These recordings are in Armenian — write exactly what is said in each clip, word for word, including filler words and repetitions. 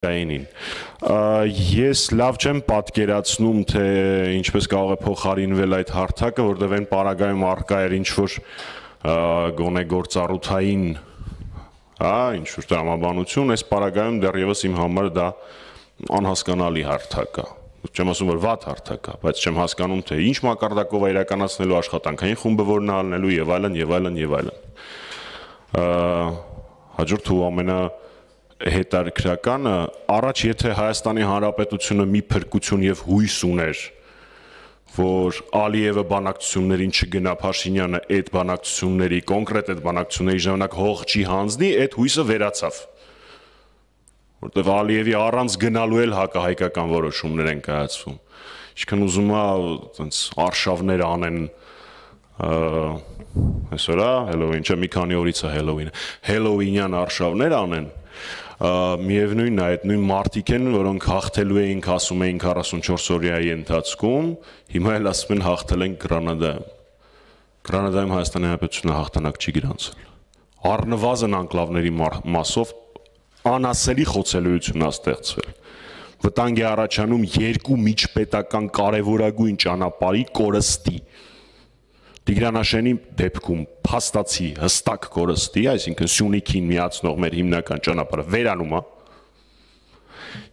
Այնին ես լավ չեմ պատկերացնում թե ինչպես կարող է փոխարինվել այդ հարթակը, որտեղ այն պարագայում առկա էր ինչ-որ գոնե գործառութային, հա, ինչ-որ տրամաբանություն, այս պարագայում դեռևս իմ համար դա անհասկանալի հարթակ է։ Չեմ ասում, որ վատ հարթակ է, բայց չեմ հասկանում, թե ինչ մակարդակով է իրականացնելու աշխատանքային խումբը, որն է ալնելու եւ այլն եւ այլն եւ այլն։ Հաջորդ ու ամենա հետարքրականը առաջ եթե Հայաստանի Հանրապետությունը մի փրկություն եւ հույս ուներ, որ Ալիևը բանակցություններին չգնա, Փաշինյանը այդ բանակցությունների, կոնկրետ այդ բանակցությունների ժամանակ հող չի հանձնի, այդ հույսը վերացավ։ Որտեղ Ալիևի առանց գնալու էլ հակահայկական որոշումներ են կայացվում։ Ինչքան ուզում է այտենց արշավներ անեն այսօր է Հելովին, չէ, մի քանի օրից է Հելովինը, Հելովինյան արշավներ անեն, միևնույնն է, այդ նույն մարդիկ են, որոնք հաղթելու էինք, ասում էին քառասունչորս օրյայի ընթացքում, հիմա էլ ասում են հաղթել ենք Գրանադայում։ Գրանադայում Հայաստանի Հանրապետությունը հաղթանակ չի գրանցել։ Առնվազն անկլավների մասով անասելի խոցելիություն է ստեղծվել։ Վտանգ է առաջանում երկու միջպետական կարևորագույն ճանապարհի կորստի։ Տիգրանաշենի դեպքում փաստացի հստակ կորստի, այսինքն Սյունիքին միացնող մեր հիմնական ճանապարհը վերանում է,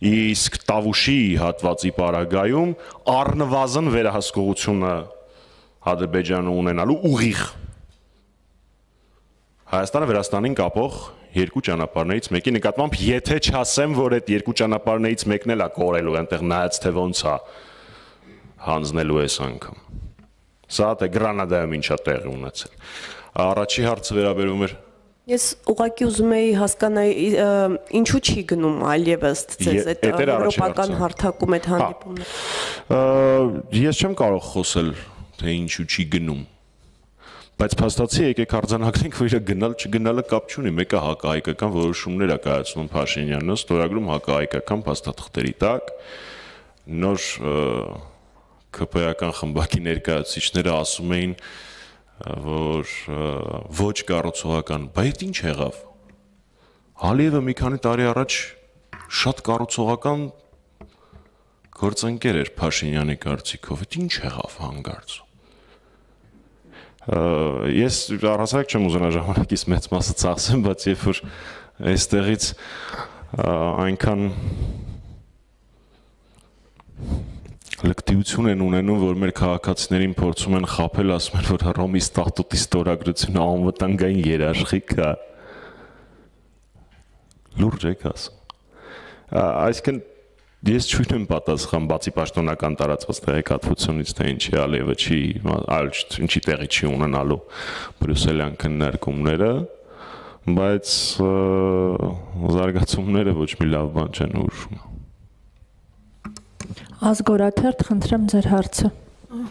իսկ Տավուշի հատվածի պարագայում առնվազն վերահսկողությունը Ադրբեջանը ունենալու ուղիղ Հայաստանը Վրաստանին կապող երկու ճանապարհներից մեկի նկատմամբ, եթե չասեմ, որ այդ երկու ճանապարհներից մեկն էլ է կորելու, այնտեղ նայած թե ոնց է հանձնելու այս անգամ։ Սա թե Գրանադայում ինչա տեղի ունեցել։ Առաջի հարցը վերաբերում էր։ Ես ուղղակի ուզում էի հասկանալ ինչու չի գնում այլևս ձեզ այդ եվրոպական հարթակում այդ հանդիպումները։ Ես չեմ կարող խոսել, թե ինչու չի գնում։ Բայց փաստացի եկեք արձանագրենք, որ իր գնալ չգնալը կապ չունի, մեկը հակահայկական որոշումներ է կայացնում Փաշինյանը, ստորագրում հակահայկական փաստաթղթերի տակ, նոր ՔՊ-ական խմբակի ներկայացուցիչները ասում էին, որ ոչ կառուցողական, բայց ինչ եղավ։ Ալիևը մի քանի տարի առաջ շատ կառուցողական գործընկեր էր Փաշինյանի կարծիքով, այդ ինչ եղավ հանկարծ։ Ես առհասարակ չեմ ուզենա ժամանակից մեծ մասը ծախսեմ, բայց երբ որ այստեղից այնքան լկտիություն են ունենում, որ մեր քաղաքացիներին փորձում են խաբել, ասում են, որ Հռոմի ստատուտի ստորագրությունը անվտանգային երաշխիք է։ Լուրջ եք ասում։ Այսինքն ես չունեմ պատասխան բացի պաշտոնական տարածված տեղեկատվությունից, թե ինչի Ալիևը չի, այլ ինչի տեղի չի ունենալու բրյուսելյան քննարկումները, բայց զարգացումները ոչ մի լավ բան չեն ուշում։ Ազգորաթերթ, խնդրեմ ձեր հարցը։